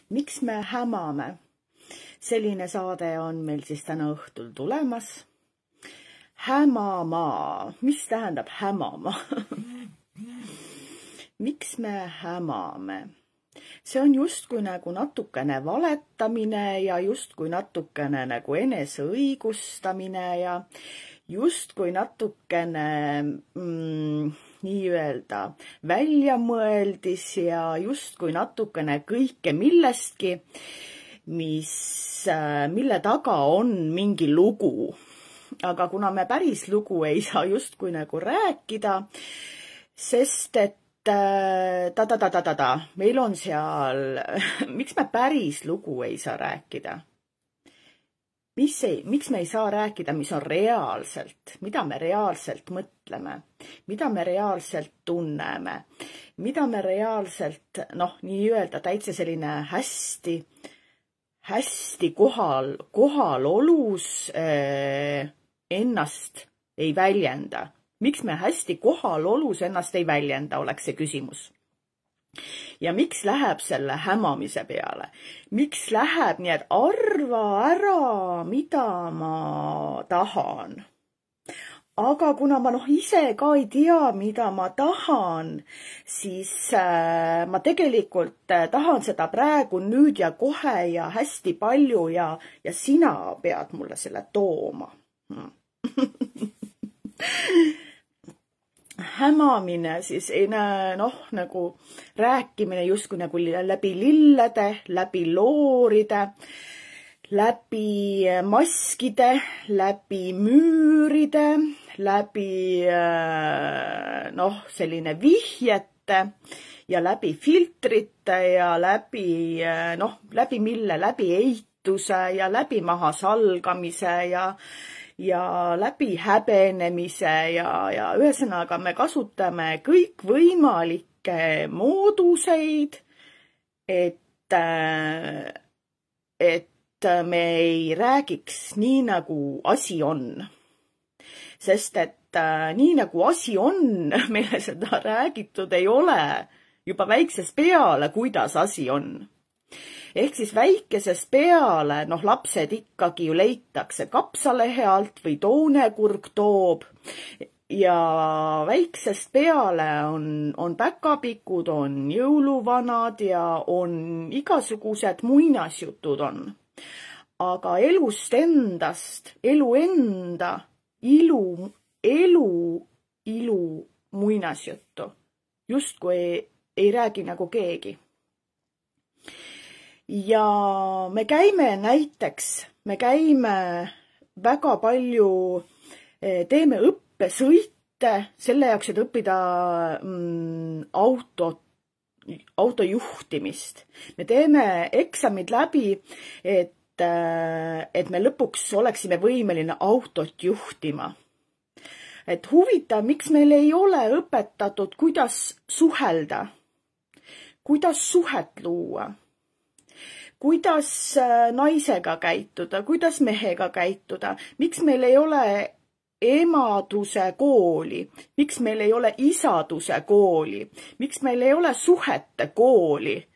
Miks me hämame? Selline saade on meil siis täna õhtul tulemas. Hämama. Mis tähendab hämama? Miks me hämame? See on justkui nagu natukene valetamine ja justkui natukene nagu eneseõigustamine ja justkui natukene nii-öelda väljamõeldis ja justkui natukene kõike millestki, mille taga on mingi lugu. Aga kuna me päris lugu ei saa justkui nagu rääkida, sest et meil on seal, miks me päris lugu ei saa rääkida? Miks me ei saa rääkida, mis on reaalselt, mida me reaalselt mõtleme, mida me reaalselt tunneme, mida me reaalselt, nii-öelda täitsa selline hästi kohalolus ennast ei väljenda. Miks me hästi kohalolus ennast ei väljenda, oleks see küsimus. Ja miks läheb selle hämamise peale? Miks läheb nii, et arva ära, mida ma tahan? Aga kuna ma ise ka ei tea, mida ma tahan, siis ma tegelikult tahan seda praegu nüüd ja kohe ja hästi palju ja sina pead mulle selle tooma. Hämamine siis nagu rääkimine justkui nagu läbi lillede, läbi looride, läbi maskide, läbi müüride, läbi selline vihjete ja läbi filtrite ja läbi mille, läbi eituse ja läbi mahasalgamise ja läbi häbenemise ja ühesõnaga me kasutame kõikvõimalikke mooduseid, et me ei räägiks nii, nagu asi on. Sest et nii, nagu asi on, meile seda räägitud ei ole juba väiksest peale, kuidas asi on. Ehk siis väikesest peale, lapsed ikkagi ju leitakse kapsalehe alt või toonekurg toob ja väiksest peale on päkapikud, on jõuluvanad ja on igasugused muinasjutud on. Aga elust endast, elu enda, ilu muinasjuttu justkui ei räägi nagu keegi. Ja me käime väga palju, teeme õppesõite selle jaoks, et õppida autojuhtimist. Me teeme eksamid läbi, et me lõpuks oleksime võimeline autot juhtima. Et huvitav, miks meil ei ole õpetatud, kuidas suhelda, kuidas suhet luua. Kuidas naisega käituda, kuidas mehega käituda, miks meil ei ole emaduse kooli, miks meil ei ole isaduse kooli, miks meil ei ole suhete kooli.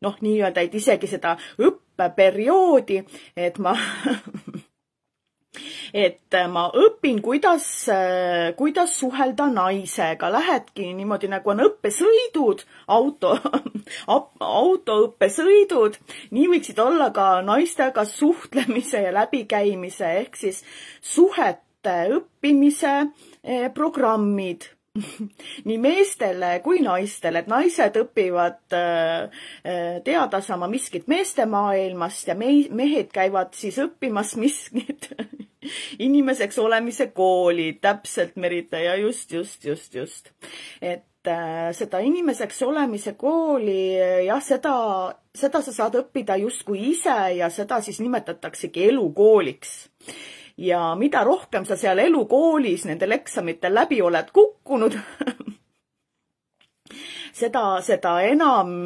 Nii-öelda, et isegi seda õppeperioodi, et ma õpin, kuidas suhelda naisega. Lähedki niimoodi, nagu on õppesõidud, autoõppesõidud. Nii võiksid olla ka naistega suhtlemise ja läbikäimise ehk siis suhete õppimise programmid. Nii meestele kui naistele, et naised õpivad teada sama miskit meeste maailmast ja mehed käivad siis õppimas miskit inimeseks olemise kooli, täpselt Merita ja just. Et seda inimeseks olemise kooli, jah, seda sa saad õppida justkui ise ja seda siis nimetataksegi elukooliks. Ja mida rohkem sa seal elukoolis nendel eksamitel läbi oled kukkunud, seda enam,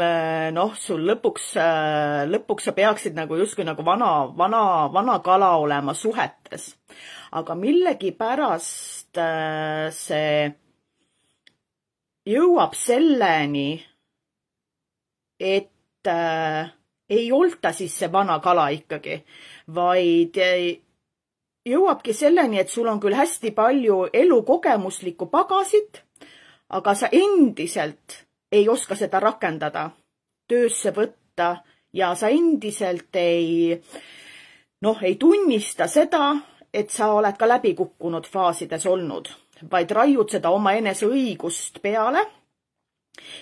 sul lõpuks sa peaksid nagu justkui nagu vana kala olema suhetes. Aga millegipärast see jõuab selleni, et ei olta siis see vana kala ikkagi, vaid jõuabki selleni, et sul on küll hästi palju elukogemuslikku pagasit, aga sa endiselt ei oska seda rakendada, töösse võtta ja sa endiselt ei tunnista seda, et sa oled ka läbikukkunud faasides olnud, vaid raiud seda oma eneseõigust peale.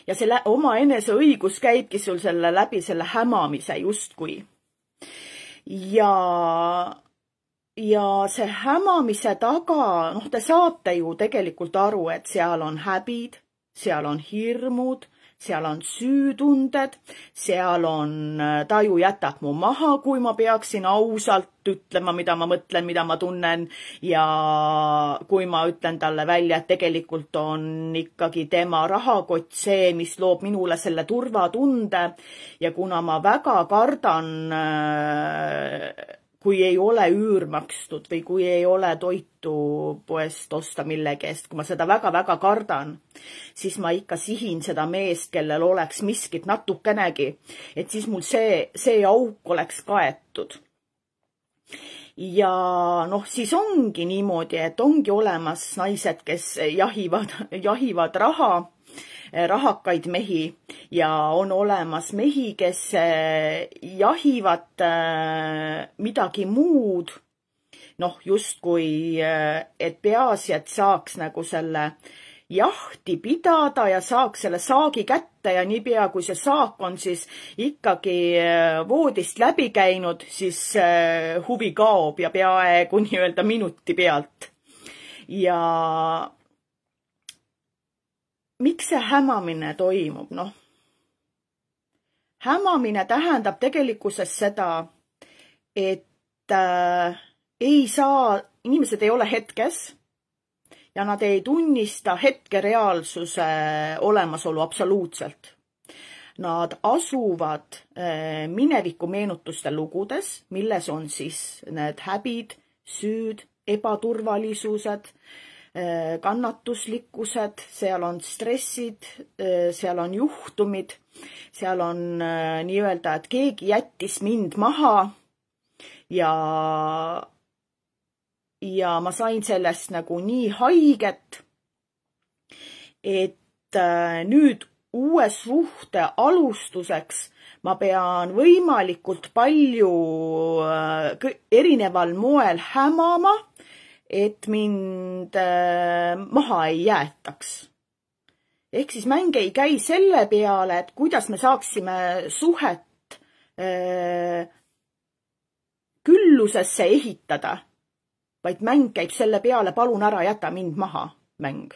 Ja selle oma eneseõigus käibki sul läbi selle hämamise justkui. Ja see hämamise taga, te saate ju tegelikult aru, et seal on häbid, seal on hirmud, seal on süütunded, seal on taju jätab mu maha, kui ma peaksin ausalt ütlema, mida ma mõtlen, mida ma tunnen ja kui ma ütlen talle välja, et tegelikult on ikkagi tema rahakott see, mis loob minule selle turvatunde ja kuna ma väga kardan kui ei ole üür makstud või kui ei ole toitu poest osta millegi eest, kui ma seda väga-väga kardan, siis ma ikka sihin seda meest, kellel oleks miskit natukenegi, et siis mul see auk oleks kaetud. Ja siis ongi niimoodi, et ongi olemas naised, kes jahivad rahakaid mehi ja on olemas mehi, kes jahivad midagi muud, justkui, et peaasi, et saaks nagu selle jahti pidada ja saaks selle saagi kätte ja niipea, kui see saak on siis ikkagi voodist läbi käinud, siis huvi kaob ja peaaegu nii-öelda minuti pealt. Ja miks see hämamine toimub? Hämamine tähendab tegelikkuses seda, et inimesed ei ole hetkes ja nad ei tunnista hetkereaalsuse olemasolu absoluutselt. Nad asuvad mineviku meenutuste lugudes, milles on siis need häbid, süüd, ebaturvalisused, kannatuslikkused, seal on stressid, seal on juhtumid, seal on nii-öelda, et keegi jättis mind maha ja ma sain sellest nagu nii haiget, et nüüd uue suhte alustuseks ma pean võimalikult palju erineval moel hämama, et mind maha ei jäetaks. Ehk siis mäng ei käi selle peale, et kuidas me saaksime suhet küllusesse ehitada, vaid mäng käib selle peale, palun ära jäta mind maha, mäng.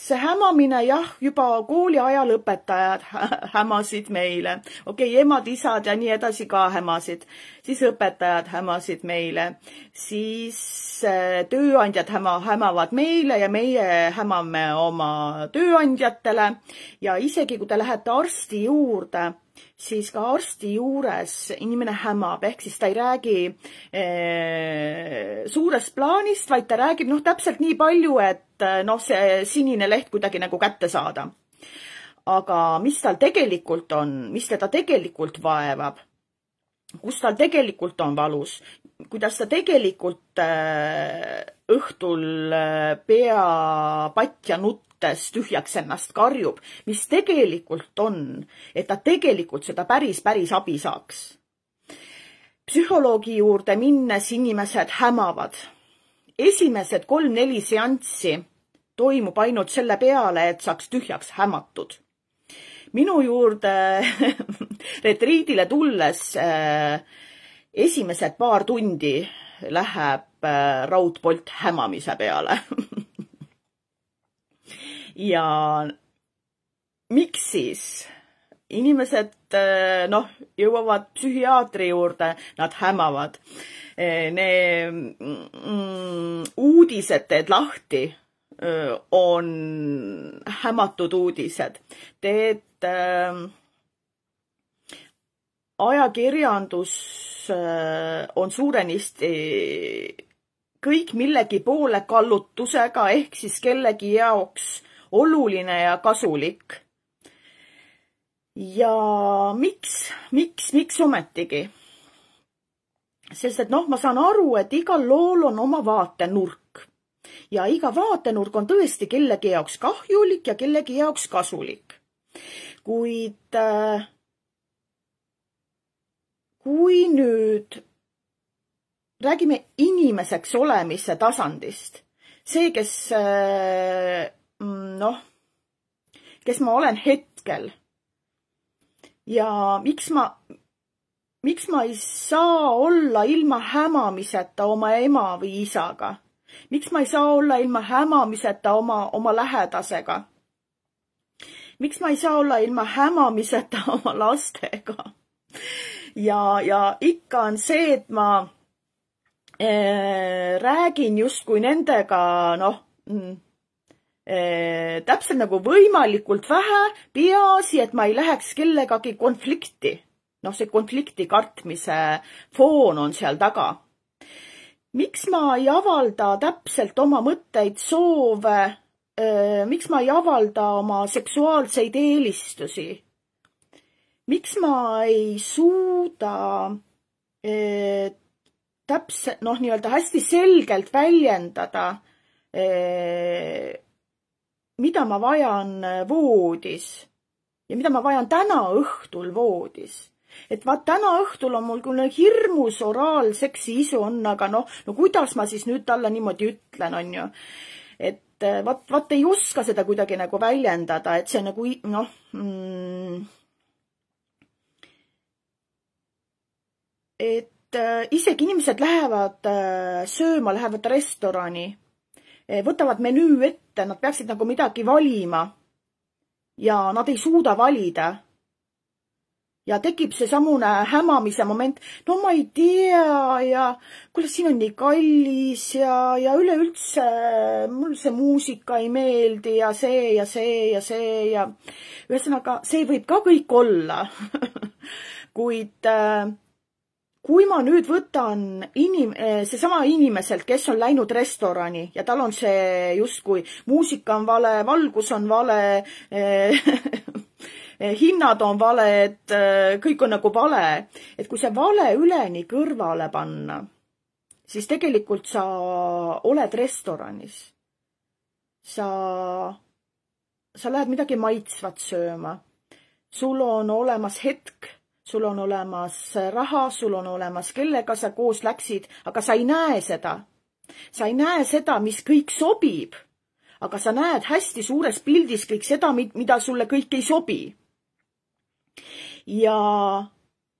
See hämamine, juba kooli ajal õpetajad hämasid meile. Okei, emad, isad ja nii edasi ka hämasid. Siis õpetajad hämasid meile. Siis tööandjad hämavad meile ja meie hämame oma tööandjatele. Ja isegi kui te lähete arsti juurde, siis ka arsti juures inimene hämab, ehk siis ta ei räägi suurest plaanist, vaid ta räägib täpselt nii palju, et see sinine leht kuidagi nagu kätte saada. Aga mis tal tegelikult on, mis teda tegelikult vaevab, kus tal tegelikult on valus, kuidas ta tegelikult õhtul pea patja nuttes tühjaks ennast karjub, mis tegelikult on, et ta tegelikult seda päris abi saaks. Psühholoogi juurde minnes inimesed hämavad. Esimesed 3-4 seanssi toimub ainult selle peale, et saaks tühjaks hämatud. Minu juurde retriidile tulles esimesed paar tundi läheb raudpolt hämamise peale. Ja miks siis? Inimesed jõuavad psühhiaatri juurde, nad hämavad. Uudised teed lahti, on hämatud uudised. Teed ajakirjandus on suurenisti kõik millegi poole kallutusega ehk siis kellegi jaoks oluline ja kasulik. Ja miks ometigi? Sest et ma saan aru, et igal lool on oma vaatenurk ja iga vaatenurk on tõesti kellegi jaoks kahjulik ja kellegi jaoks kasulik. Kuid kui nüüd räägime inimeseks olemise tasandist, see, kes ma olen hetkel ja miks ma ei saa olla ilma hämamiseta oma ema või isaga? Miks ma ei saa olla ilma hämamiseta oma lähedasega? Miks ma ei saa olla ilma hämamiseta oma lastega? Ja ikka on see, et ma räägin justkui nendega, täpselt nagu võimalikult vähe, peaasi, et ma ei läheks kellegagi konflikti. See konflikti kartmise foon on seal taga. Miks ma ei avalda täpselt oma mõtteid, soove, miks ma ei avalda oma seksuaalseid eelistusi? Miks ma ei suuda täpselt, nii-öelda hästi selgelt väljendada, mida ma vajan voodis ja mida ma vajan täna õhtul voodis. Et täna õhtul on mul küll hirmus oraalseksi isu on, aga kuidas ma siis nüüd talle niimoodi ütlen, on ju. Et vaat ei oska seda kuidagi nagu väljendada, et see nagu, et isegi inimesed lähevad sööma, lähevad restorani, võtavad menüü ette, nad peaksid nagu midagi valima ja nad ei suuda valida. Ja tekib see samune hämamise moment, ma ei tea ja kuule, siin on nii kallis ja üleüldse mul see muusika ei meeldi ja see ja see ja see ja ühesõnaga, see võib ka kõik olla. Kuid kui ma nüüd võtan seesama inimeselt, kes on läinud restorani ja tal on see justkui muusika on vale, valgus on vale, hinnad on vale, et kõik on nagu vale. Et kui see vale üleni kõrvale panna, siis tegelikult sa oled restoranis. Sa lähed midagi maitsvat sööma. Sul on olemas hetk, sul on olemas raha, sul on olemas kellega sa koos läksid, aga sa ei näe seda. Sa ei näe seda, mis kõik sobib, aga sa näed hästi suures pildis kõik seda, mida sulle kõik ei sobi. Ja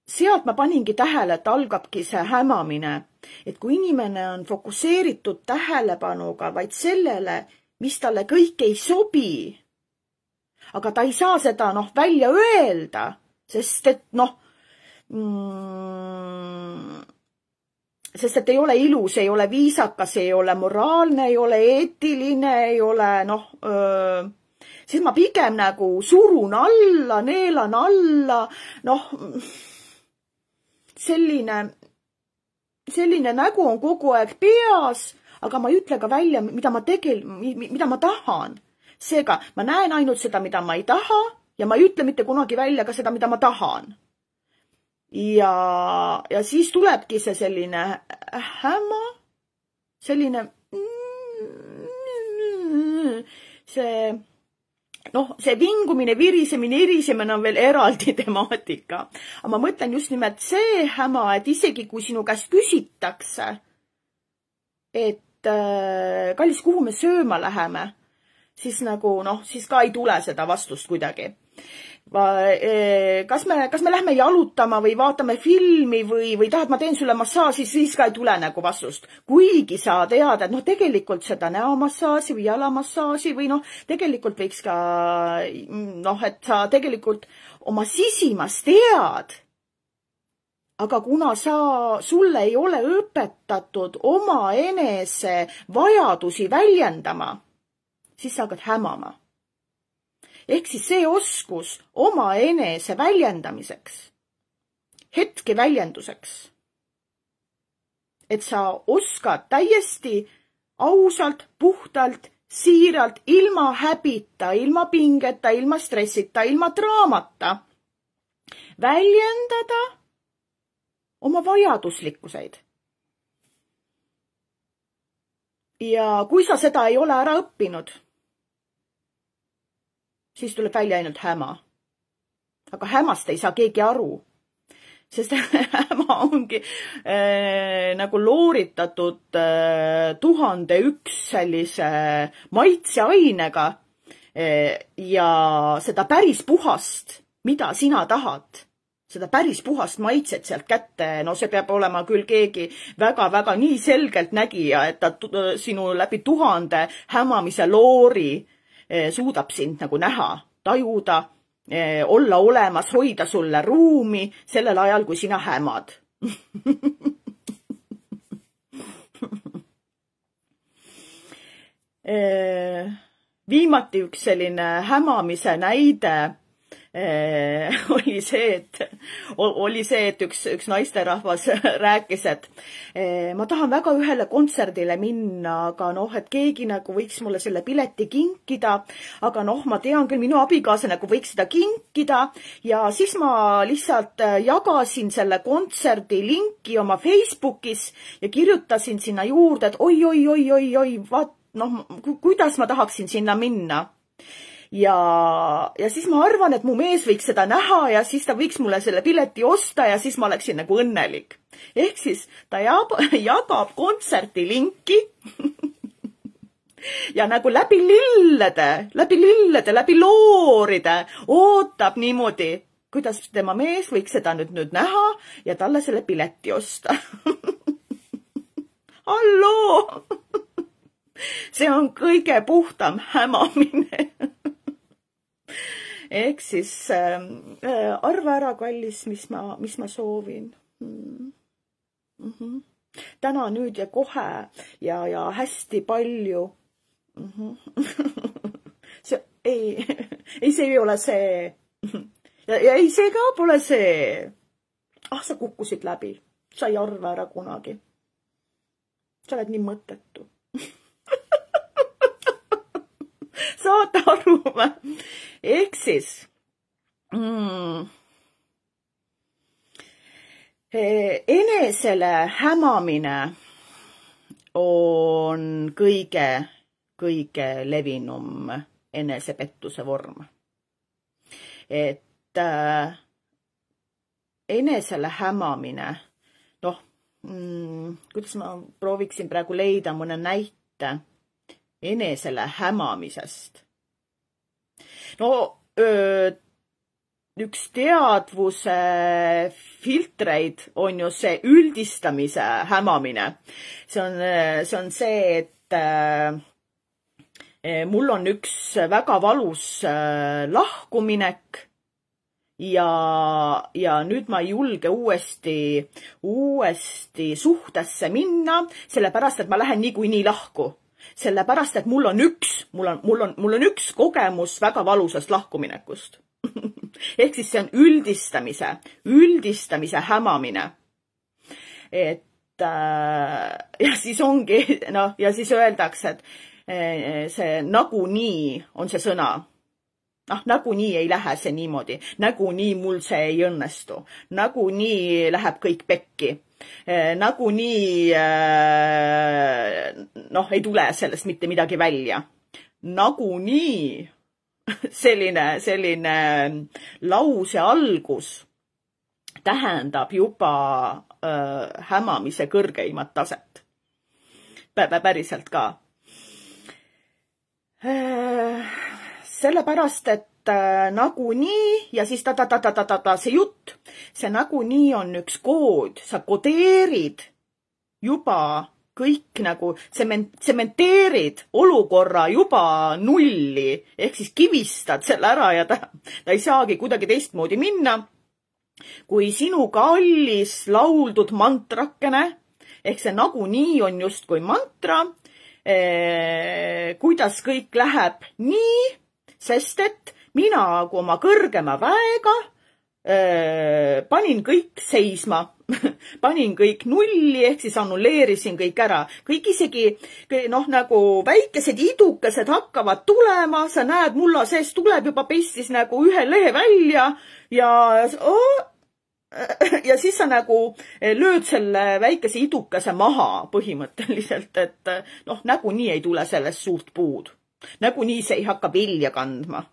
sealt ma paningi tähele, et algabki see hämamine, et kui inimene on fokusseeritud tähelepanuga vaid sellele, mis talle kõik ei sobi, aga ta ei saa seda välja öelda, sest et sest et ei ole ilus, ei ole viisakas, ei ole moraalne, ei ole eetiline, ei ole siis ma pigem nagu surun alla, neelan alla, selline nägu on kogu aeg peas, aga ma ei ütle ka välja, mida ma tahan. Seega, ma näen ainult seda, mida ma ei taha ja ma ei ütle mitte kunagi välja ka seda, mida ma tahan. Ja siis tulebki see selline häma, selline see vingumine, virisemine, irisemine on veel eraldi temaatika. Aga ma mõtlen just nimelt see häma, et isegi kui sinu käest küsitakse, et kallis, kuhu me sööma läheme, siis nagu siis ka ei tule seda vastust kuidagi. Kas me lähme jalutama või vaatame filmi või tahad, ma teen sulle massaaži, siis ka ei tule nagu vastust. Kuigi sa tead, et tegelikult seda näomassaaži või jalamassaaži või tegelikult võiks ka, et sa tegelikult oma sisimas tead. Aga kuna sulle ei ole õpetatud oma enese vajadusi väljendama, siis sa hakkad hämama. Ehk siis see oskus oma enese väljendamiseks, hetke väljenduseks, et sa oskad täiesti ausalt, puhtalt, siiralt, ilma häbita, ilma pingeta, ilma stressita, ilma draamata väljendada oma vajaduslikkuseid. Ja kui sa seda ei ole ära õppinud, siis tuleb välja ainult häma. Aga hämast ei saa keegi aru, sest häma ongi nagu looritatud 1001 sellise maitseainega ja seda päris puhast, mida sina tahad, seda päris puhast maitset sealt kätte, no see peab olema küll keegi väga-väga nii selgelt nägija, et ta sinu läbi 1000 hämamise loori suudab sind nagu näha, tajuda, olla olemas, hoida sulle ruumi sellel ajal, kui sina hämad. Viimati üks selline hämamise näide oli see, et üks naisterahvas rääkis, et ma tahan väga ühele kontserdile minna, aga et keegi nagu võiks mulle selle pileti kinkida, aga ma tean küll, minu abikaasa nagu võiks seda kinkida ja siis ma lihtsalt jagasin selle kontserdi linki oma Facebookis ja kirjutasin sinna juurde, et oi, kuidas ma tahaksin sinna minna. Ja siis ma arvan, et mu mees võiks seda näha ja siis ta võiks mulle selle pileti osta ja siis ma oleksin nagu õnnelik. Ehk siis ta jagab kontserti linki ja nagu läbi lillede, läbi looride ootab niimoodi, kuidas tema mees võiks seda nüüd näha ja talle selle pileti osta. Halloo! See on kõige puhtam hämamine. Ehk siis arva ära, kallis, mis ma soovin. Täna, nüüd ja kohe ja hästi palju. See ei ole see. Ja ei, see ka pole see. Sa kukkusid läbi. Sa ei arva ära kunagi. Sa oled nii mõttetu. Saate aru või? Ehk siis enesele hämamine on kõige levinum enesepettuse vorm. Et enesele hämamine, kuidas ma prooviksin praegu leida mõne näite enesele hämamisest. Üks teadvuse filtreid on ju see üldistamise hämamine. See on see, et mul on üks väga valus lahkuminek ja nüüd ma ei julge uuesti suhtesse minna, sellepärast, et ma lähen niikuinii lahku. Sellepärast, et mul on üks kogemus väga valusast lahkuminekust. Ehk siis see on üldistamise hämamine. Et ja siis ongi, ja siis öeldakse, et see nagunii on see sõna. Nagunii ei lähe see niimoodi. Nagunii mul see ei õnnestu. Nagunii läheb kõik pekki. Nagunii ei tule sellest mitte midagi välja. Nagunii selline lause algus tähendab juba hämamise kõrgeimat taset. Päriselt ka. Sellepärast, et nagunii ja siis see jutt, see nagunii on üks kood, sa kodeerid juba kõik nagu, sementeerid olukorra juba nulli, ehk siis kivistad selle ära ja ta ei saagi kuidagi teistmoodi minna, kui sinu kallis lauldud mantrakene, ehk see nagunii on justkui mantra, kuidas kõik läheb nii, sest et mina kui oma kõrgema väega panin kõik seisma, panin kõik nulli, ehk siis annulleerisin kõik ära. kõik isegi, nagu väikesed idukesed hakkavad tulema, sa näed, mulla sees tuleb juba pestis nagu ühe lehe välja ja siis sa nagu lööd selle väikese idukese maha põhimõtteliselt, et nagunii ei tule sellest suurt puud. Nagunii see ei hakka vilja kandma.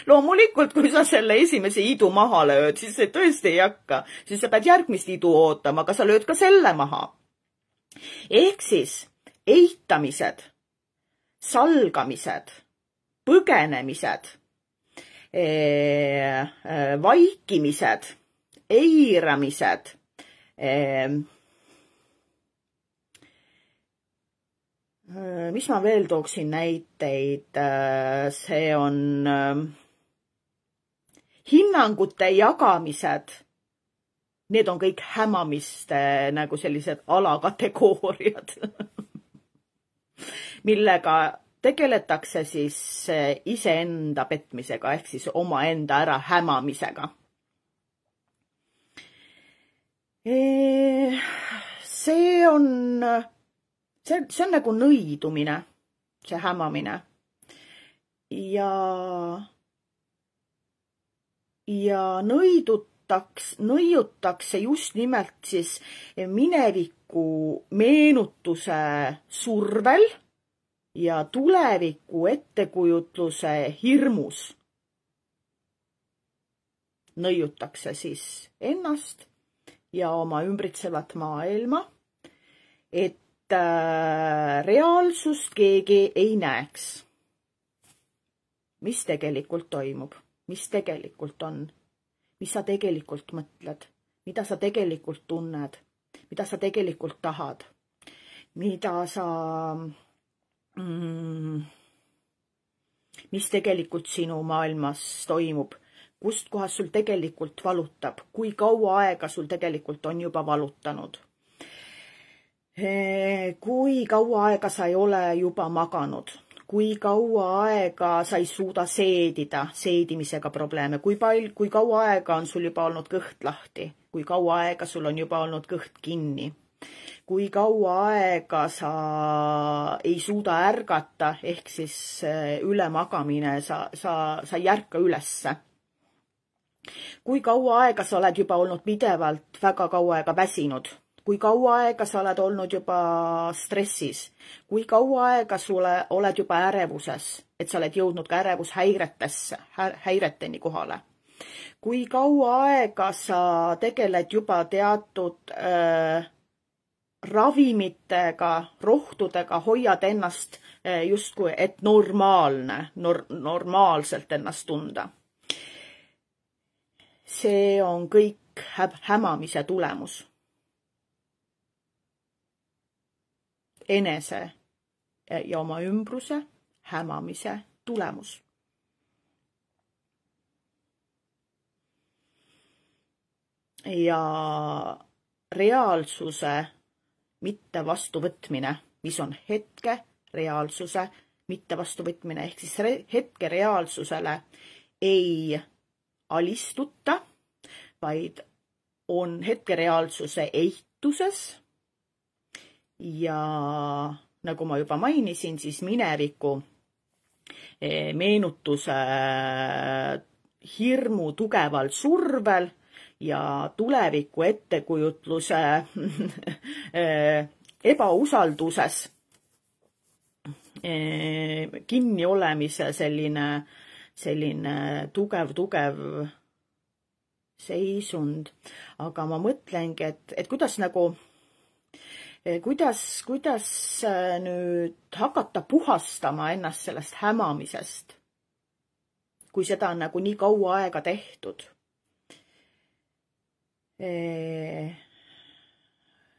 Loomulikult, kui sa selle esimese idu maha lööd, siis see tõesti ei hakka. Siis sa pead järgmist idu ootama, aga sa lööd ka selle maha. Ehk siis eitamised, salgamised, põgenemised, vaikimised, eiramised, mis ma veel tooksin näiteid, see on hinnangute jagamised, need on kõik hämamiste nagu sellised alakategooriad, millega tegeletakse siis iseenda petmisega ehk siis omaenda ära hämamisega. See on nagu nõidumine, see hämamine. Ja nõiutakse just nimelt siis mineviku meenutuse survel ja tuleviku ettekujutluse hirmus. Nõiutakse siis ennast ja oma ümbritsevat maailma, et reaalsust keegi ei näeks. Mis tegelikult toimub? Mis tegelikult on? Mis sa tegelikult mõtled? Mida sa tegelikult tunned? Mida sa tegelikult tahad? Mis tegelikult sinu maailmas toimub? Kust kohas sul tegelikult valutab? Kui kaua aega sul tegelikult on juba valutanud? Kui kaua aega sa ei ole juba maganud? Kui kaua aega sa ei suuda seedimisega probleeme? Kui kaua aega on sul juba olnud kõht lahti? Kui kaua aega sul on juba olnud kõht kinni? Kui kaua aega sa ei suuda ärgata, ehk siis ülemagamine, sa ei ärka ülesse? Kui kaua aega sa oled juba olnud pidevalt väga kaua aega väsinud? Kui kaua aega sa oled olnud juba stressis? Kui kaua aega sulle oled juba ärevuses, et sa oled jõudnud ka häireteni kohale? Kui kaua aega sa tegeled juba teatud ravimitega, rohtudega, hoiad ennast justkui, et normaalselt ennast tunda? See on kõik hämamise tulemus. Enese ja oma ümbruse hämamise tulemus. Ja reaalsuse mitte vastuvõtmine, mis on hetke reaalsuse mitte vastuvõtmine, ehk siis hetke reaalsusele ei alistuta, vaid on hetke reaalsuse eituses. Ja nagu ma juba mainisin, siis mineviku meenutuse hirmu tugeval survel ja tuleviku ettekujutluse ebausalduses kinni olemise selline tugev seisund. Aga ma mõtlengi, et kuidas nüüd hakata puhastama ennast sellest hämamisest, kui seda on nagu nii kaua aega tehtud.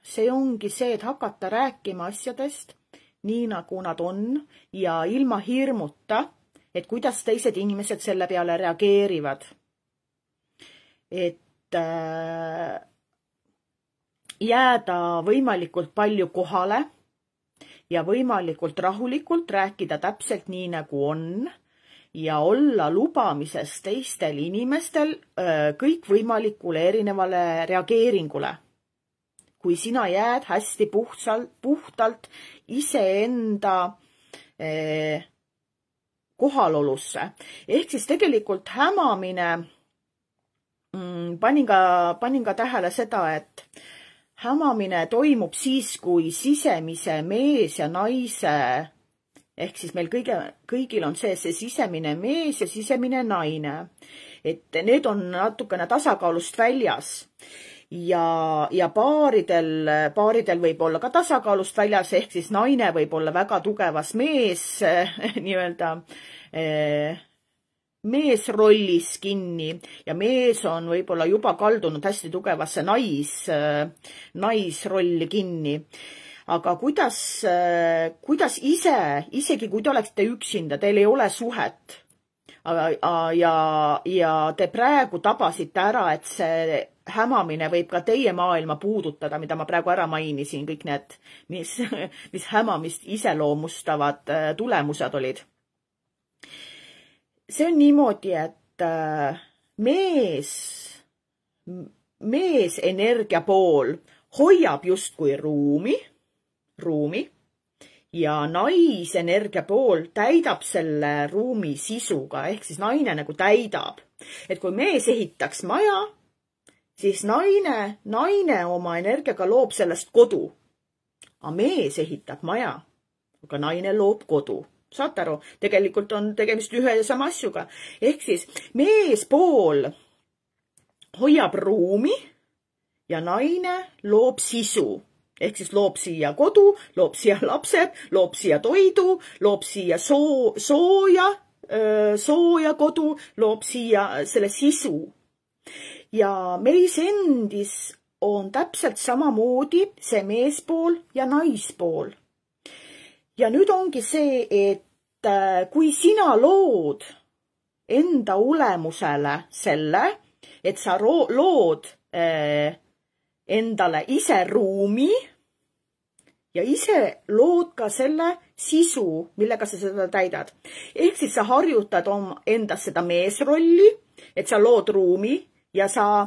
See ongi see, et hakata rääkima asjadest nii nagu nad on ja ilma hirmuta, et kuidas teised inimesed selle peale reageerivad. Et jääda võimalikult palju kohale ja võimalikult rahulikult rääkida täpselt nii, nagu on ja olla lubamises teistel inimestel kõikvõimalikule erinevale reageeringule. Kui sina jääd hästi puhtalt iseenda kohalolusse. Ehk siis tegelikult hämamine, panin ka tähele seda, et hämamine toimub siis, kui sisemise mees ja naise, ehk siis meil kõigil on see sisemine mees ja sisemine naine. Et need on natukene tasakaalust väljas. Ja paaridel võib olla ka tasakaalust väljas, ehk siis naine võib olla väga tugevas meesrollis kinni ja mees on võib-olla juba kaldunud hästi tugevasse naisrolli kinni. Aga kuidas isegi kui te oleksite üksinda, teil ei ole suhet ja te praegu tabasite ära, et see hämamine võib ka teie maailma puudutada, mida ma praegu ära mainisin, kõik need, mis hämamist iseloomustavad tulemused olid. See on niimoodi, et mees energia pool hoiab justkui ruumi ja naisenergia pool täidab selle ruumi sisuga, ehk siis naine nagu täidab. Et kui mees ehitaks maja, siis naine oma energiaga loob sellest kodu. Aga mees ehitab maja, aga naine loob kodu. Saate aru? Tegelikult on tegemist ühe ja sama asjuga. Ehk siis meespool hoiab ruumi ja naine loob sisu. Ehk siis loob siia kodu, loob siia lapsed, loob siia toidu, loob siia sooja kodu, loob siia selle sisu. Ja meis endis on täpselt samamoodi see meespool ja naispool. Ja nüüd ongi see, et kui sina lood enda olemusele selle, et sa lood endale ise ruumi ja ise lood ka selle sisu, millega sa seda täidad. Ehk siis sa harjutad endas seda meesrolli, et sa lood ruumi ja sa,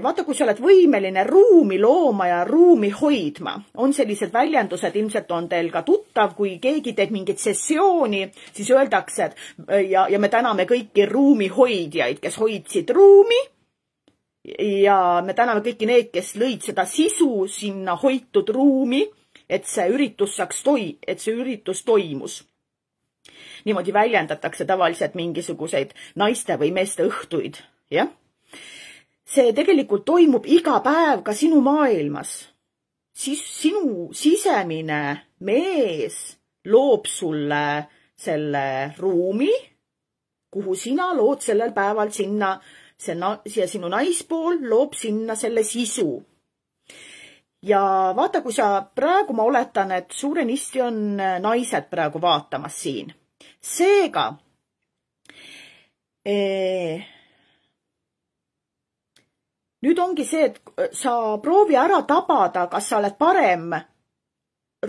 vaata, kui sa oled võimeline ruumi looma ja ruumi hoidma, on sellised väljendused, ilmselt on teil ka tuttav, kui keegi teeb mingit sessiooni, siis öeldakse, et ja me täname kõiki ruumi hoidjaid, kes hoidsid ruumi ja me täname kõiki need, kes lõid seda sisu sinna hoitud ruumi, et see üritus toimus. Niimoodi väljendatakse tavaliselt mingisuguseid naiste või meeste õhtuid, jah? See tegelikult toimub iga päev ka sinu maailmas. Sinu sisemine mees loob sulle selle ruumi, kuhu sina lood sellel päeval sinna, siia sinu naispool loob sinna selle sisu. Ja vaata, kui sa praegu, ma oletan, et suurenisti on naised praegu vaatamas siin. Seega, nüüd ongi see, et sa proovi ära tabada, kas sa oled parem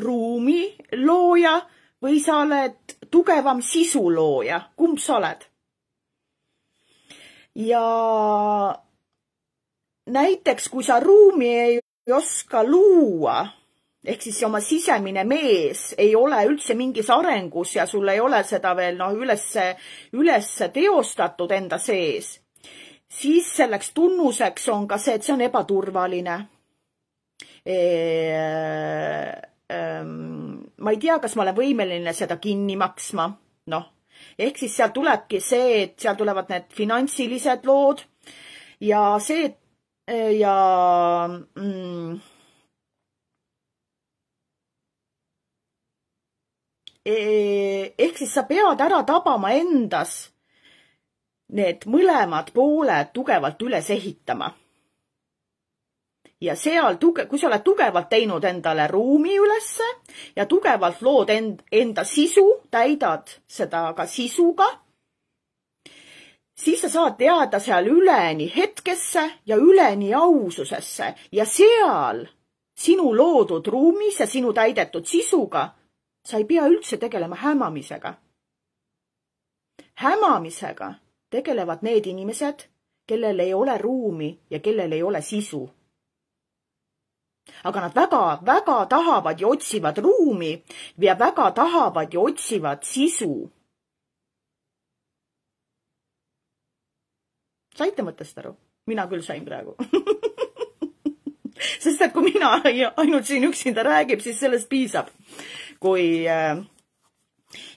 ruumi looja või sa oled tugevam sisu looja. Kumb sa oled? Ja näiteks, kui sa ruumi ei oska luua, ehk siis oma sisemine mees ei ole üldse mingis arengus ja sul ei ole seda veel üles teostatud enda sees, siis selleks tunnuseks on ka see, et see on ebaturvaline. Ma ei tea, kas ma olen võimeline seda kinni maksma. Ehk siis seal tulebki see, et seal tulevad need finantsilised lood ja see, ja ehk siis sa pead ära tabama endas need mõlemad pooled tugevalt üles ehitama. Ja seal, kui sa oled tugevalt teinud endale ruumi ülesse ja tugevalt lood enda sisu, täidad seda ka sisuga, siis sa saad teada seal üleni hetkesse ja üleni aususesse ja seal sinu loodud ruumis ja sinu täidetud sisuga sa ei pea üldse tegelema hämamisega. Hämamisega tegelevad need inimesed, kellel ei ole ruumi ja kellel ei ole sisu. Aga nad väga tahavad ja otsivad ruumi ja väga tahavad ja otsivad sisu. Saite mõttest aru? Mina küll sain praegu. Sest et kui mina ainult siin üksinda räägib, siis sellest piisab. Kui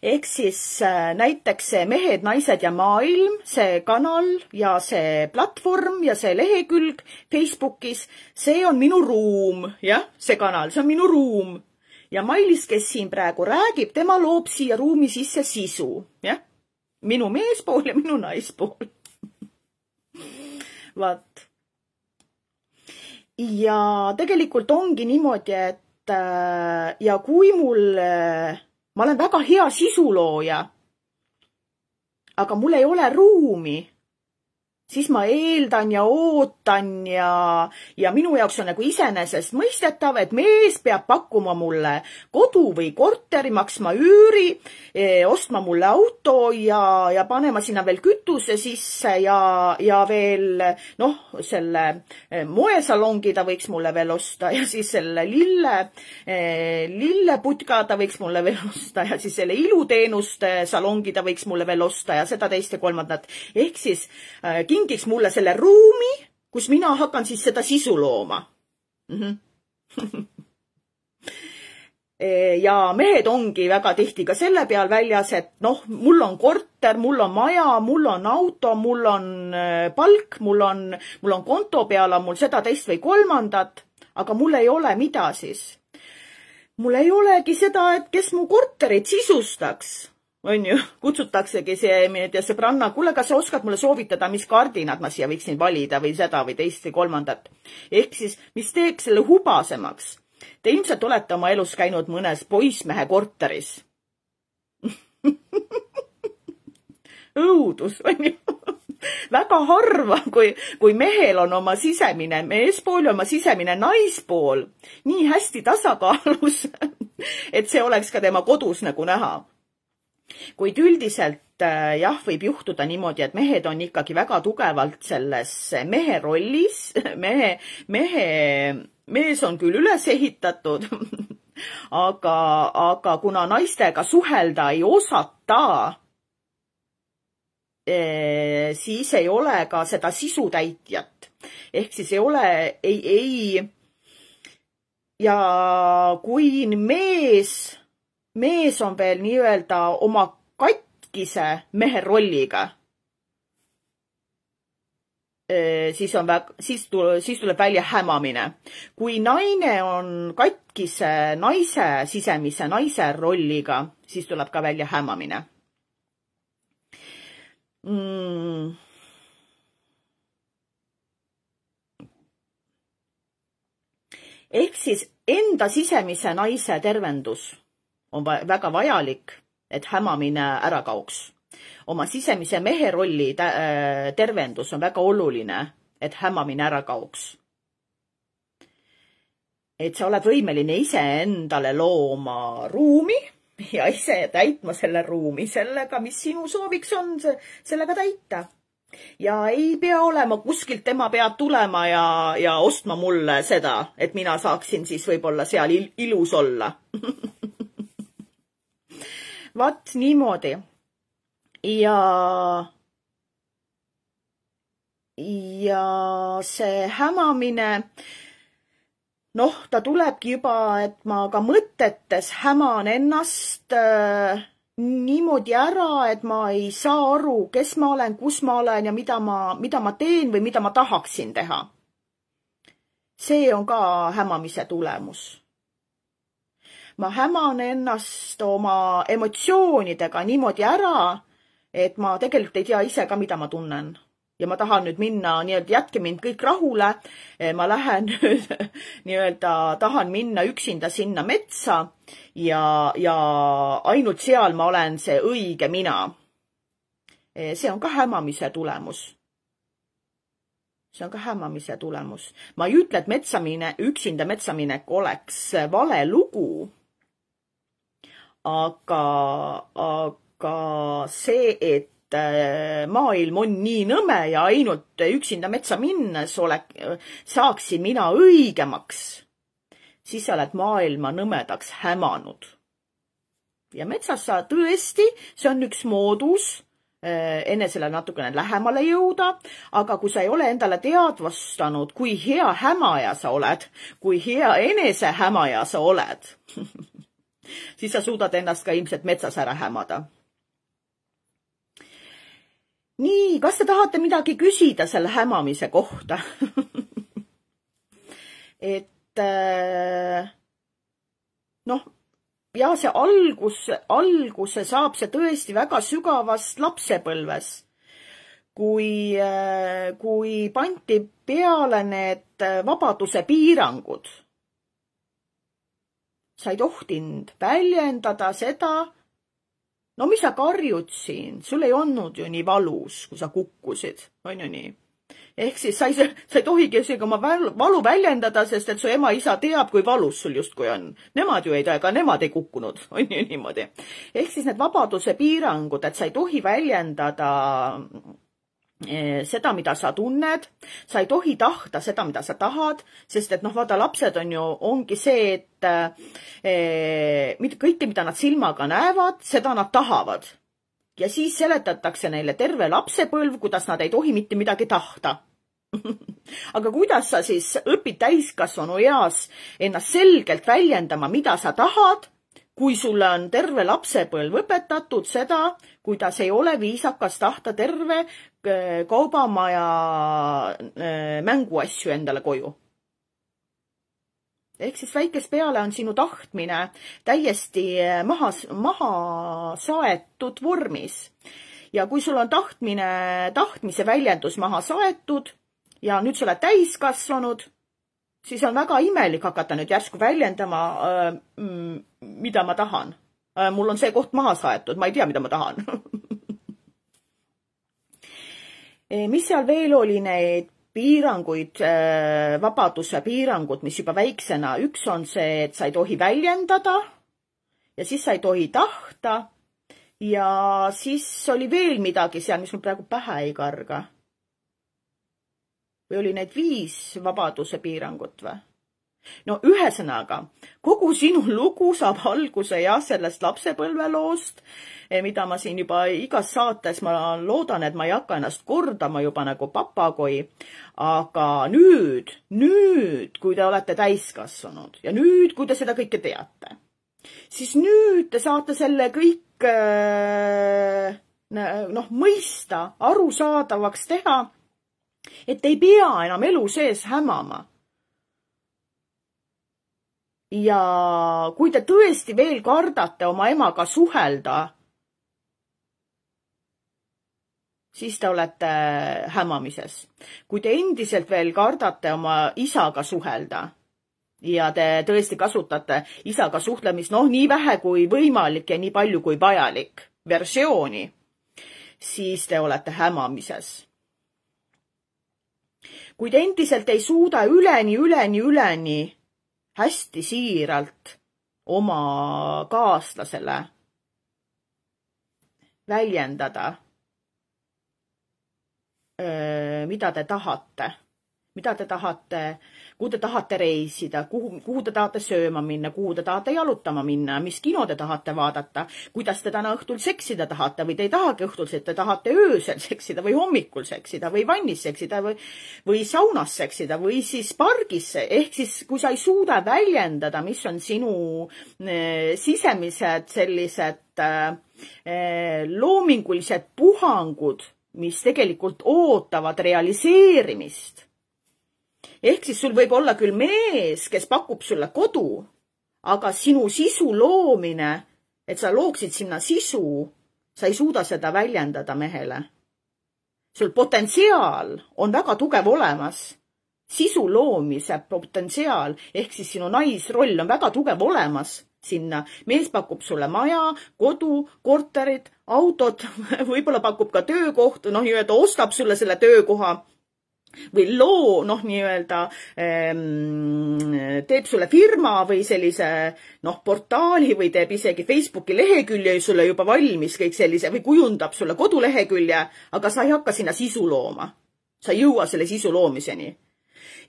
ehk siis näiteks see Mehed, naised ja maailm, see kanal ja see platvorm ja see lehekülg Facebookis, see on minu ruum, jah, see kanal, see on minu ruum. Ja Mailis, kes siin praegu räägib, tema loob siia ruumi sisse sisu, jah, minu meespool ja minu naispool. Vaat. Ja tegelikult ongi niimoodi, et ja kui ma olen väga hea sisulooja, aga mul ei ole ruumi, siis ma eeldan ja ootan ja minu jaoks on nagu iseenesest mõistetav, et mees peab pakkuma mulle kodu või korteri, maksma üüri, ostma mulle auto ja panema sinna veel kütuse sisse ja veel, noh, selle moesalongi ta võiks mulle veel osta ja siis selle lilleputka ta võiks mulle veel osta ja siis selle iluteenuste salongi ta võiks mulle veel osta ja seda teist ja kolmandat. Ehk siis kingiks mulle selle ruumi, kus mina hakkan siis seda sisu looma. Ja mehed ongi väga tihti ka selle peal väljas, et noh, mul on korter, mul on maja, mul on auto, mul on palk, mul on konto peal, on mul seda teist või kolmandat, aga mul ei ole mida siis. Mul ei olegi seda, et kes mu korterit sisustaks. On ju, kutsutaksegi see sõbranna, kuule, kas sa oskad mulle soovitada, mis kardinad ma siia võiksin valida või seda või teist või kolmandat. Ehk siis, mis teeks selle hubasemaks? Te ilmselt olete oma elus käinud mõnes poissmehe korteris. Õudus, on ju. Väga harva, kui mehel on oma sisemine meespool ja oma sisemine naispool nii hästi tasakaalus, et see oleks ka tema kodus nagu näha. Kuid üldiselt jah, võib juhtuda niimoodi, et mehed on ikkagi väga tugevalt selles mehe rollis. Mees on küll üles ehitatud, aga kuna naistega suhelda ei osata, siis ei ole ka seda sisutäitjat. Ehk siis ei ole, ja kui mees on veel nii-öelda oma katkise mehe rolliga, siis tuleb välja hämamine. Kui naine on katkise naise sisemise naise rolliga, siis tuleb ka välja hämamine. Ehk siis enda sisemise naise tervendus on väga vajalik, et hämamine ära kaoks. Oma sisemise mehe rolli tervendus on väga oluline, et hämamine ära kaoks. Et sa oled võimeline ise endale looma ruumi ja ise täitma selle ruumi sellega, mis sinu sooviks on, sellega täita. Ja ei pea olema kuskilt tema pead tulema ja ostma mulle seda, et mina saaksin siis võib-olla seal ilus olla. Vaat niimoodi. Ja see hämamine, noh, ta tulebki juba, et ma ka mõtetes häman ennast niimoodi ära, et ma ei saa aru, kes ma olen, kus ma olen ja mida ma teen või mida ma tahaksin teha. See on ka hämamise tulemus. Ma häman ennast oma emotsioonidega niimoodi ära, et ma tegelikult ei tea ise ka, mida ma tunnen. Ja ma tahan nüüd minna, nii-öelda jätke mind kõik rahule, ma lähen nüüd, nii-öelda tahan minna üksinda sinna metsa ja ainult seal ma olen see õige mina. See on ka hämamise tulemus. See on ka hämamise tulemus. Ma ei ütle, et üksinda metsaminek oleks vale lugu, aga ka see, et maailm on nii nõme ja ainult üksinda metsa minnes saaksin mina õigemaks, siis sa oled maailma nõmedaks hämanud. Ja metsas sa tõesti, see on üks moodus enesele natukene lähemale jõuda, aga kui sa ei ole endale teadvustanud, kui hea hämaja sa oled, kui hea enese hämaja sa oled, siis sa suudad ennast ka ilmselt metsas ära hämada. Nii, kas te tahate midagi küsida selle hämamise kohta? Et ja see alguse saab see tõesti väga sügavast lapsepõlves, kui pandi peale need vabaduse piirangud. Sa ei tohtinud väljendada seda, mis sa karjud siin, sul ei olnud ju nii valus, kui sa kukkusid, on ju nii. Ehk siis sa ei tohigi oma valu väljendada, sest et su ema-isa teab, kui valus sul justkui on. Nemad ju ei tea, ega nemad ei kukkunud, on ju niimoodi. Ehk siis need vabaduse piirangud, et sa ei tohi väljendada seda, mida sa tunned, sa ei tohi tahta seda, mida sa tahad, sest et vaata, lapsed ongi see, et kõike, mida nad silmaga näevad, seda nad tahavad. Ja siis seletatakse neile terve lapsepõlv, kuidas nad ei tohi mitte midagi tahta. Aga kuidas sa siis õpid täiskasvanu eas ennast selgelt väljendama, mida sa tahad, kui sulle on terve lapsepõlv õpetatud seda, kuidas ei ole viisakas tahta terve kaubamaja mänguasju endale koju. Ehk siis väikest peale on sinu tahtmine täiesti maha saetud vormis. Ja kui sul on tahtmise väljendus maha saetud ja nüüd sa oled täiskasvanud, siis on väga imelik hakata nüüd järsku väljendama, mida ma tahan. Mul on see koht maha saetud, ma ei tea, mida ma tahan. Mis seal veel oli neid piiranguid, vabaduse piirangud, mis juba väiksena, üks on see, et sa ei tohi väljendada ja siis sa ei tohi tahta ja siis oli veel midagi seal, mis mul praegu pähe ei karga. Või oli neid 5 vabaduse piirangut või? Ühesõnaga, kogu sinu lugu saab alguse sellest lapsepõlveloost, mida ma siin juba igas saates, ma loodan, et ma ei hakka ennast kordama juba nagu papagoi, aga nüüd, kui te olete täiskasvanud ja nüüd, kui te seda kõike teate, siis nüüd te saate selle kõik mõista, arusaadavaks teha, et ei pea enam elu sees hämama. Ja kui te tõesti veel kardate oma emaga suhelda, siis te olete hämamises. Kui te endiselt veel kardate oma isaga suhelda ja te tõesti kasutate isaga suhtlemist, nii vähe kui võimalik ja nii palju kui vajalik versiooni, siis te olete hämamises. Kui te endiselt ei suuda üleni hästi siiralt oma kaaslasele väljendada, mida te tahate, kuhu te tahate reisida, kuhu te tahate sööma minna, kuhu te tahate jalutama minna, mis kino te tahate vaadata, kuidas te täna õhtul seksida tahate või te ei tahagi õhtul, te tahate öösel seksida või hommikul seksida või vannis seksida või saunas seksida või siis pargisse. Ehk siis, kui sa ei suuda väljendada, mis on sinu sisemised sellised loomingulised puhangud, mis tegelikult ootavad realiseerimist. Ehk siis sul võib olla küll mees, kes pakub sulle kodu, aga sinu sisu loomine, et sa looksid sinna sisu, sa ei suuda seda väljendada mehele. Sul potentsiaal on väga tugev olemas. Sisu loomise potentsiaal, ehk siis sinu naisroll on väga tugev olemas sinna. Mees pakub sulle maja, kodu, korterid, autod, võib-olla pakub ka töökoht, ostab sulle selle töökoha. või loo, nii-öelda teeb sulle firma või sellise, portaali või teeb isegi Facebooki lehekülje sulle juba valmis kõik sellise või kujundab sulle kodulehekülje, aga sa ei hakka sinna sisu looma. Sa ei jõua selle sisu loomiseni.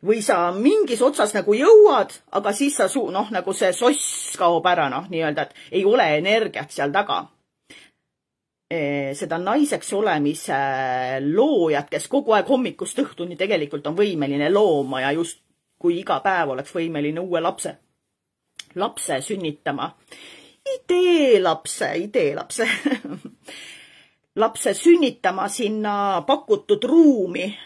Või sa mingis otsas nagu jõuad, aga siis sa nagu see soss kaob ära, nii-öelda, et ei ole energiat seal taga. Seda naiseks olemise loojad, kes kogu aeg hommikust õhtuni tegelikult on võimeline looma ja just kui iga päev oleks võimeline uue lapse sünnitama. Ideelapse. Lapse sünnitama sinna pakutud ruumi.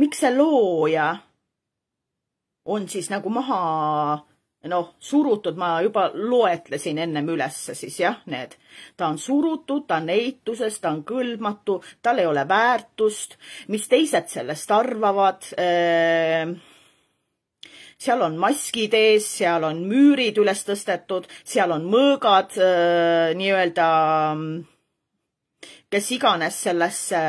Miks see looja on siis nagu maha surutud, ma juba loetlesin ennem ülesse siis need. Ta on surutud, ta on eituses, ta on kõlbmatu, tal ei ole väärtust, mis teised sellest arvavad. Seal on maskid ees, seal on müürid üles tõstetud, seal on mõõgad, nii-öelda, kes iganes sellesse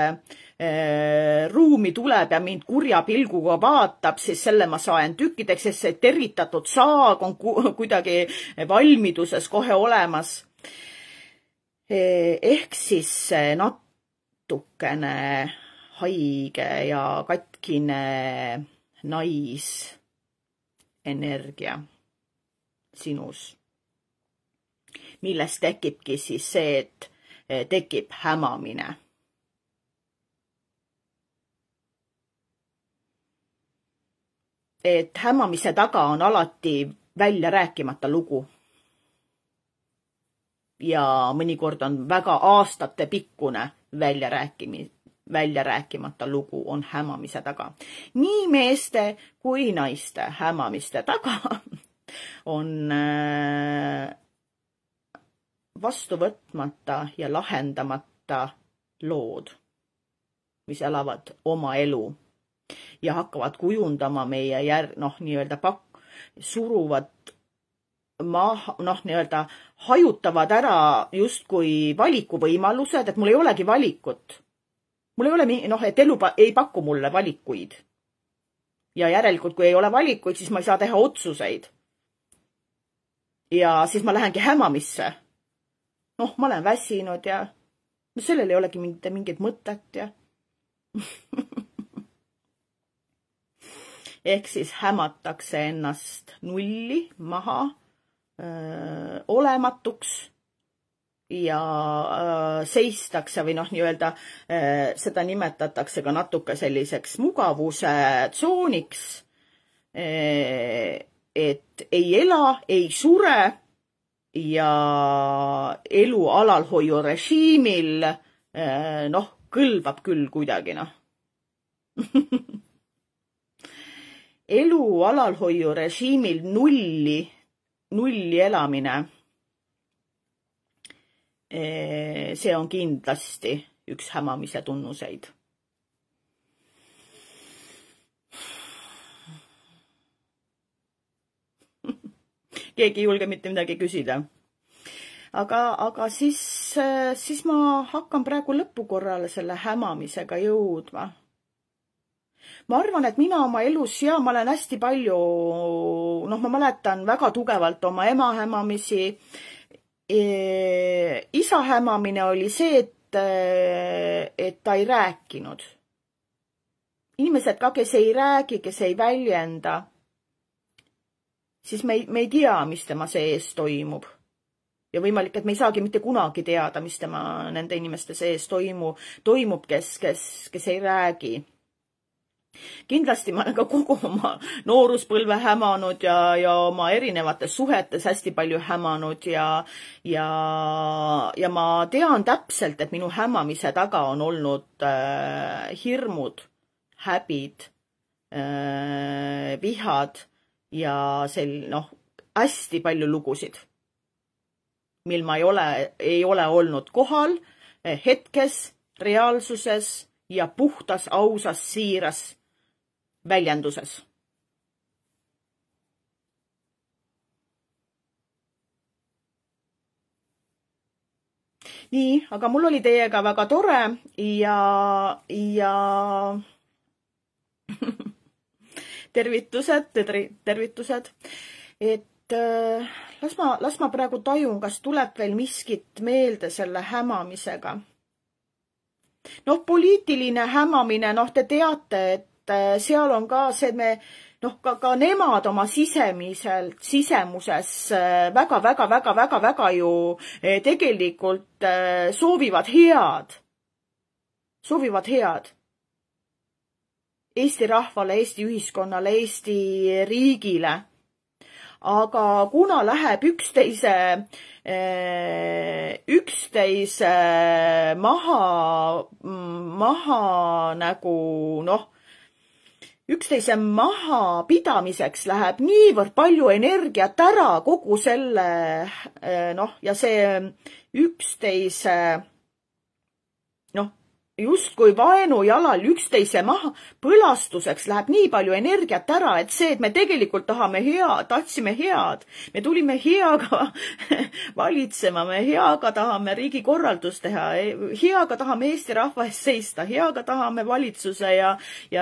ruumi tuleb ja mind kurja pilguga vaatab, siis selle ma saan tükkideks, sest see tervitatud saag on kuidagi valmiduses kohe olemas. Ehk siis natukene haige ja katkine naisenergia sinus, millest tekibki siis see, et tekib hämamine. Et hämamise taga on alati välja rääkimata lugu. Ja mõnikord on väga aastate pikkune välja rääkimata lugu on hämamise taga. Nii meeste kui naiste hämamiste taga on vastu võtmata ja lahendamata lood, mis elavad oma elu. Ja hakkavad kujundama meie nii-öelda suruvad nii-öelda hajutavad ära justkui valikuvõimalused, et mul ei olegi valikut. Mul ei ole, et elu ei paku mulle valikuid. Ja järelikult, kui ei ole valikuid, siis ma ei saa teha otsuseid. Ja siis ma lähengi hämamisse. Ma olen väsinud ja sellel ei olegi mingit mõtet ja ehk siis hämatakse ennast nulli maha, olematuks ja seistakse või nii-öelda seda nimetatakse ka natuke selliseks mugavuse tsooniks, et ei ela, ei sure ja elu alalhoiu režiimil kõlbab küll kuidagi elu alalhoiu režiimil nulli elamine, see on kindlasti üks hämamise tunnuseid. Keegi ei julge mitte midagi küsida. Aga siis ma hakkan praegu lõpukorrale selle hämamisega jõudma. Ma arvan, et mina oma elus ma olen hästi palju, ma mäletan väga tugevalt oma ema hämamisi. Isa hämamine oli see, et ta ei rääkinud. Inimesed ka, kes ei räägi, kes ei väljenda, siis me ei tea, mis tema sees toimub. Ja võimalik, et me ei saagi mitte kunagi teada, mis tema nende inimeste sees toimub, kes ei räägi. Kindlasti ma olen ka kogu oma nooruspõlve hämanud ja oma erinevates suhetes hästi palju hämanud ja ma tean täpselt, et minu hämamise taga on olnud hirmud, häbid, vihad ja hästi palju lugusid, mil ma ei ole olnud kohal hetkes, reaalsuses ja puhtas, ausas, siiras väljenduses. nii, aga mul oli teiega väga tore ja tervitused, et las ma praegu tajun, kas tuleb veel miskit meelde selle hämamisega. Noh, poliitiline hämamine, noh, te teate, et seal on ka see, et me, noh, ka nemad oma sisemuses väga ju tegelikult soovivad head. Eesti rahvale, Eesti ühiskonnale, Eesti riigile. Aga kuna läheb üksteise maha nagu, noh, üksteise mahapidamiseks läheb niivõrd palju energiat ära kogu selle, noh, ja see üksteise, noh, justkui vaenu jalal üksteise maha põlastuseks läheb nii palju energiat ära, et see, et me tegelikult tahtsime head, me tulime heaga valitsema, me heaga tahame riigikorraldust teha, heaga tahame Eesti rahva eest seista, heaga tahame valitsuse ja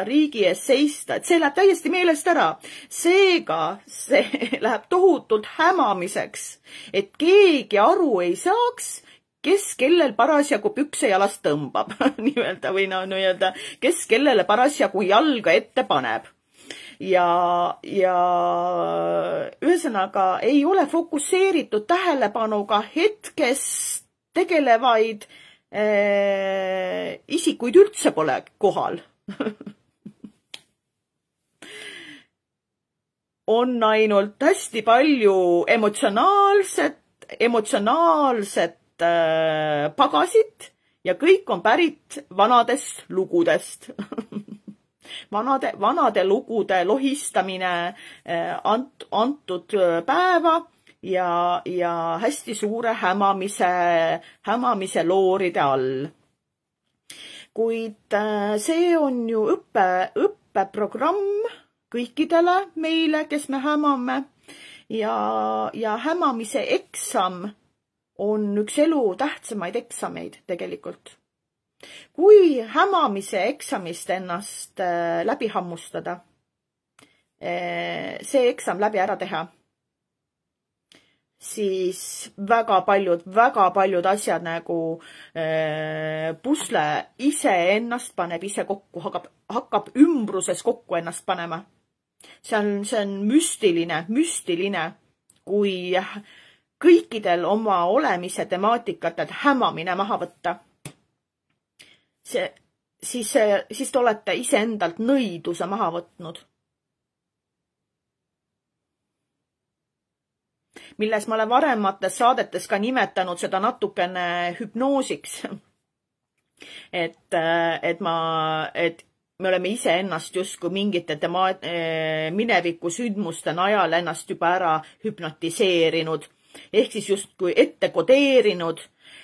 riigi eest seista, et see läheb täiesti meelest ära. Seega see läheb tohutult hämamiseks, et keegi aru ei saaks, kes kellel parasjagu pükse jalast tõmbab, nii-öelda, või no nii-öelda, kes kellele parasjagu jalga ette paneb. Ja ühesõnaga ei ole fokusseeritud tähelepanuga hetkes tegelevaid isikuid üldse pole kohal. On ainult hästi palju emotsionaalset pagasid ja kõik on pärit vanadest lugudest. Vanade lugude lohistamine antud päeva ja hästi suure hämamise looride all. Kuid see on ju õppeprogramm kõikidele meile, kes me hämame ja hämamise eksam on üks elu tähtsamaid eksameid tegelikult. Kui hämamise eksamist ennast läbi hammustada, see eksam läbi ära teha, siis väga paljud asjad nagu pusle ise ennast paneb ise kokku, hakkab ümbruses kokku ennast panema. See on müstiline, kui kõikidel oma olemise temaatikat, et hämamine maha võtta. Siis te olete iseendalt nõiduse maha võtnud. Milles ma olen varemates saadetes ka nimetanud seda natukene hüpnoosiks. Et me oleme iseennast justkui mingite mineviku sündmuste najal ennast juba ära hüpnotiseerinud. Ehk siis justkui ette kodeerinud,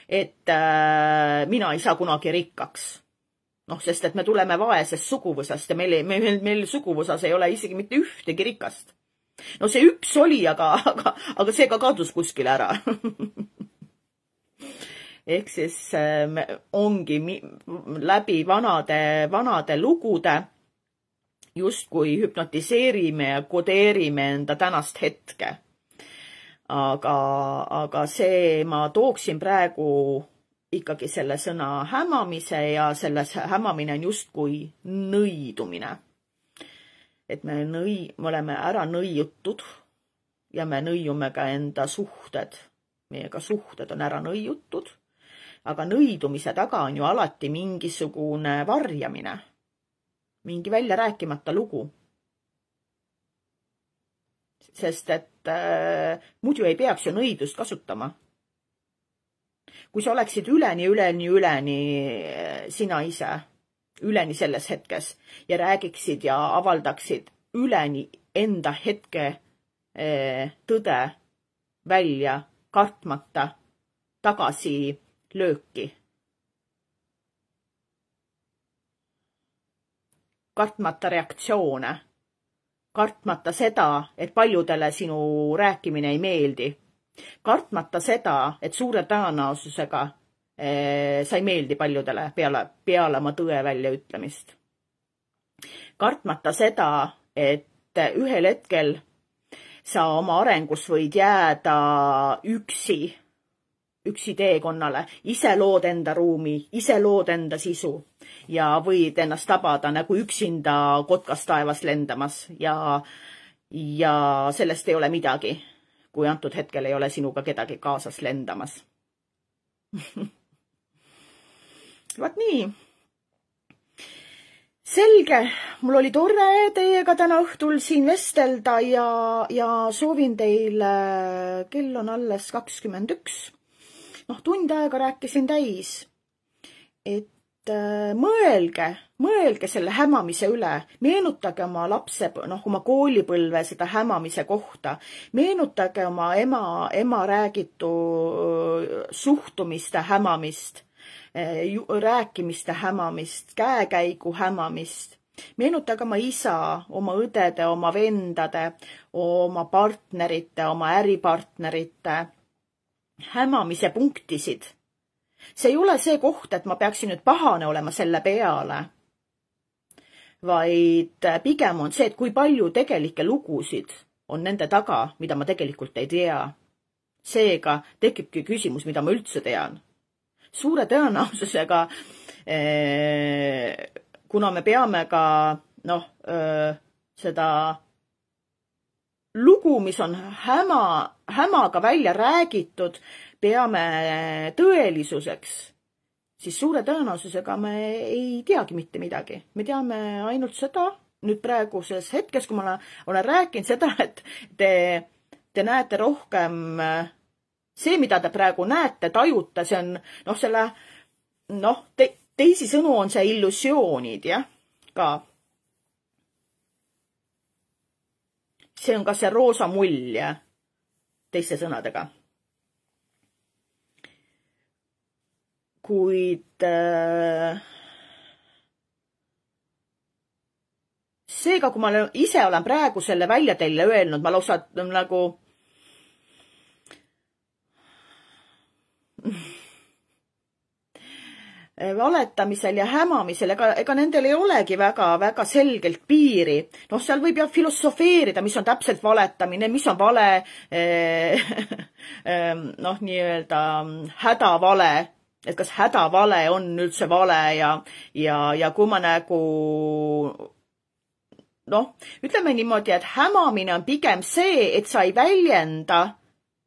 et mina ei saa kunagi rikkaks. Noh, sest et me tuleme vaesest suguvõsast ja meil suguvõsas ei ole isegi mitte ühtegi rikast. No see üks oli, aga see ka kadus kuskile ära. Ehk siis ongi läbi vanade lugude justkui hüpnotiseerime ja kodeerime enda tänast hetke. Aga see, ma tooksin praegu ikkagi selle sõna hämamise ja selles hämamine on justkui nõidumine. Et me oleme ära nõiutud ja me nõiume ka enda suhted. Meiega suhted on ära nõiutud, aga nõidumise taga on ju alati mingisugune varjamine, mingi välja rääkimata lugu. Sest et muidu ei peaks ju nõidust kasutama. Kui sa oleksid üleni sina ise, üleni selles hetkes ja räägiksid ja avaldaksid üleni enda hetke tõde välja, kartmata tagasi lööki. Kartmata reaktsioone. Kartmata seda, et paljudele sinu rääkimine ei meeldi. Kartmata seda, et suure tõenäosusega sa ei meeldi paljudele peale oma tõe väljaütlemist. Kartmata seda, et ühel hetkel sa oma arengus võid jääda üksi teekonnale, ise lood enda ruumi, ise lood enda sisu ja võid ennast tabada nagu üksinda kotkas taevas lendamas ja sellest ei ole midagi, kui antud hetkel ei ole sinuga kedagi kaasas lendamas. Vaat nii. Selge, mul oli tore teiega täna õhtul siin vestelda ja soovin teile, kell on alles 21. Tund aega rääkisin täis, et mõelge selle hämamise üle, meenutage oma oma koolipõlve seda hämamise kohta, meenutage oma ema räägitu suhtumiste hämamist, rääkimiste hämamist, käekäigu hämamist, meenutage oma isa, oma õdede, oma vendade, oma partnerite, oma äripartnerite hämamise punktisid. See ei ole see koht, et ma peaksin nüüd pahane olema selle peale, vaid pigem on see, et kui palju tegelikke lugusid on nende taga, mida ma tegelikult ei tea. Seega tekibki küsimus, mida ma üldse tean. Suure tõenäosusega, kuna me peame ka seda lugu, mis on hämaga välja räägitud, peame tõelisuseks, siis suure tõenäosusega me ei teagi mitte midagi. Me teame ainult seda, nüüd praeguses hetkes, kui ma olen rääkinud seda, et te näete rohkem see, mida te praegu näete, tajute, see on, teisisõnu on see illusioonid, jah, ka. See on ka see roosa mull, jah, teiste sõnadega. Kuid seega, kui ma ise olen praegu selle välja teile öelnud, ma lausa nagu valetamisel ja hämamisel, ega nendel ei olegi väga selgelt piiri. Seal võib jah filosofeerida, mis on täpselt valetamine, mis on vale, nii-öelda hädavale, et kas hädavale on üldse vale ja kui ma nagu, ütleme niimoodi, et hämamine on pigem see, et sa ei väljenda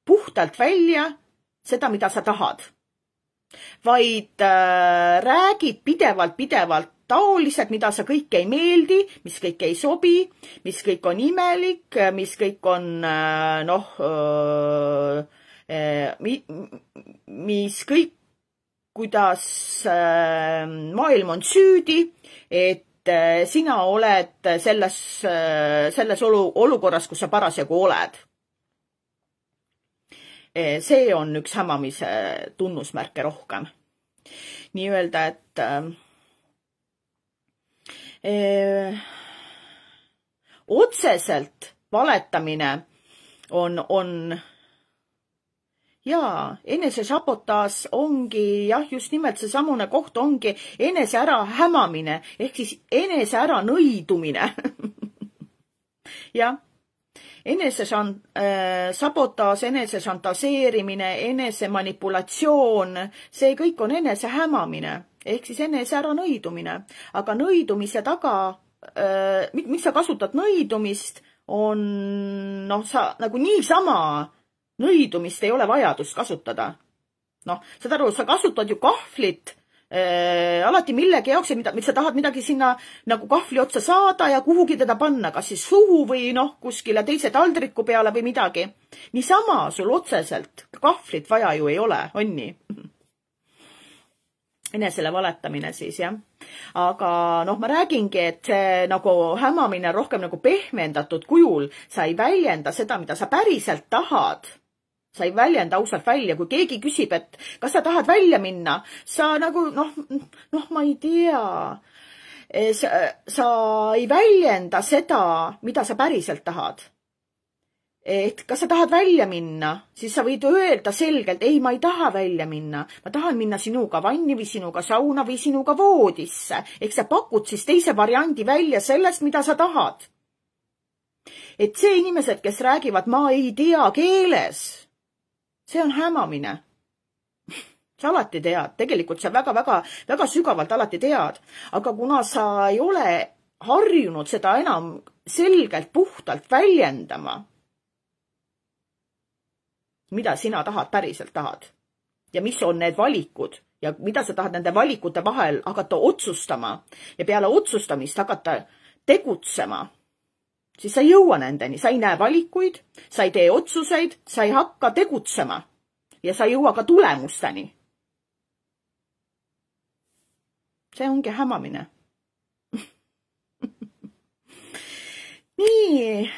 puhtalt välja seda, mida sa tahad, vaid räägid pidevalt taoliselt, mida sa kõik ei meeldi, mis kõik ei sobi, mis kõik on imelik, mis kõik on, mis kõik, kuidas maailm on süüdi, et sina oled selles olukorras, kus sa parasjagu oled. See on üks hämamise tunnusmärke rohkem. Nii öelda, et otseselt valetamine on jaa, enesesabotaaž ongi jah, just nimelt see samune koht ongi enese ära hämamine ehk siis enese ära nõidumine. jah. Sabotaaž, enese šantaseerimine, enese manipulatsioon, see kõik on enese hämamine ehk siis enese ära nõidumine. Aga nõidumise taga, miks sa kasutad nõidumist, on sa nagu niisama nõidumist ei ole vajadust kasutada. Saad aru, sa kasutad ju kahvlit alati millegi jaoks, mida sa tahad midagi sinna nagu kahvli otsa saada ja kuhugi teda panna, kas siis suhu või kuskile teise taldriku peale või midagi. Niisama sul otseselt kahvlit vaja ju ei ole, on nii? Enesele valetamine siis, jah. Aga ma räägingi, et see nagu hämamine rohkem nagu pehmendatud kujul, sa ei väljenda seda, mida sa päriselt tahad. Sa ei väljenda ausalt välja, kui keegi küsib, et kas sa tahad välja minna, sa nagu, ma ei tea, sa ei väljenda seda, mida sa päriselt tahad. et kas sa tahad välja minna, siis sa võid öelda selgelt, ei, ma ei taha välja minna. Ma tahan minna sinuga vanni või sinuga sauna või sinuga voodisse. Ehk sa pakud siis teise variandi välja sellest, mida sa tahad. Et see inimesed, kes räägivad, ma ei tea keeles, see on hämamine. Sa alati tead, tegelikult sa väga sügavalt alati tead, aga kuna sa ei ole harjunud seda enam selgelt puhtalt väljendama, mida sina päriselt tahad ja mis on need valikud ja mida sa tahad nende valikute vahel hakata otsustama ja peale otsustamist hakata tegutsema, siis sa ei jõua nendeni, sa ei näe valikuid, sa ei tee otsuseid, sa ei hakka tegutsema ja sa ei jõua ka tulemusteni. See ongi hämamine. Nii,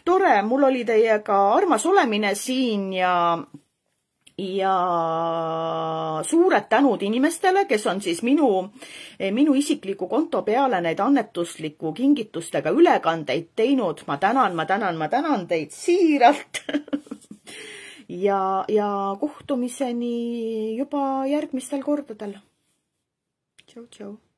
tore, mul oli teiega armas olemine siin ja suured tänud inimestele, kes on siis minu isikliku konto peale neid annetusliku kingitustega ülekandeid teinud. Ma tänan teid siiralt. ja kohtumiseni juba järgmistel kordadel. Tšau, tšau.